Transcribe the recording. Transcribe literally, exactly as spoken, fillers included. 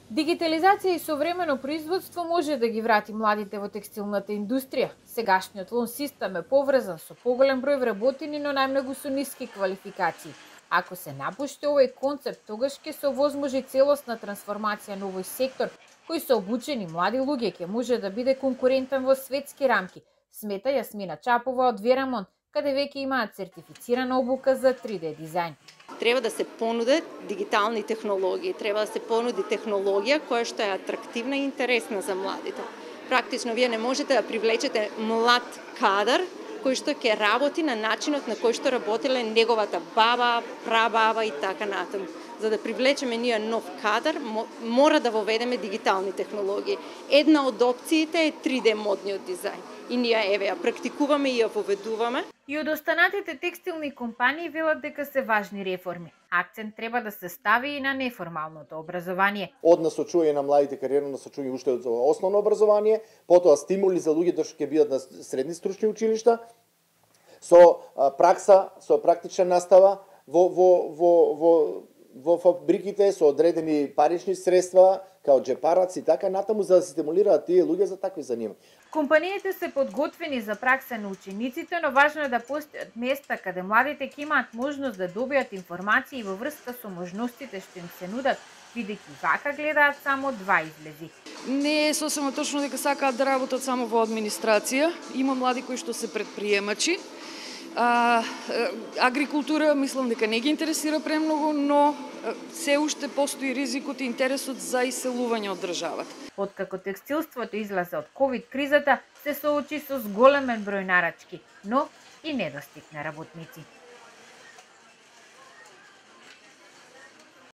Дигитализација и современо производство може да ги врати младите во текстилната индустрија. Сегашниот лон систем е поврзан со поголем број вработени, но најмногу со ниски квалификации. Ако се напушти овој концепт, тогаш ќе се овозможи целосна трансформација на овој сектор, кој со обучени млади луѓе ќе може да биде конкурентен во светски рамки, смета Јасмина Чапова од Верамон, каде веќе имаат сертифицирана обука за три де дизајн. Треба да се понудат дигитални технологии, треба да се понуди технологија која што е атрактивна и интересна за младите. Практично вие не можете да привлечете млад кадар кој што ќе работи на начинот на кој што работеле неговата баба, прабаба и така натаму. За да привлечеме ние нов кадар, мора да воведеме дигитални технологии. Една од опциите е три де модниот дизајн. И ние еве ја практикуваме и ја воведуваме. И од останатите текстилни компании велат дека се важни реформи. Акцент треба да се стави и на неформалното образование. Од насочување на младите кариерно насочување уште од основно образование, потоа стимули за луѓето што ќе бидат на средни стручни училишта, со пракса, со практична настава во во во во во фабриките со одредени парични средства, као джепараци и така натаму, за да се стимулираат тие луѓе за такви занимања. Компаниите се подготвени за пракса на учениците, но важно е да постојат места каде младите ќе имаат можност да добијат информации во врска со можностите што им се нудат, бидејќи вака гледаат само два излези. Не е сосема точно дека сакаат да работат само во администрација. Има млади кои што се предприемачи. А, агрикултура мислам дека не ги интересира премногу, но се уште постои ризикот и интересот за иселување од државата. Откако текстилството излезе од ковид кризата, се соочи со зголемен број нарачки, но и недостиг на работници.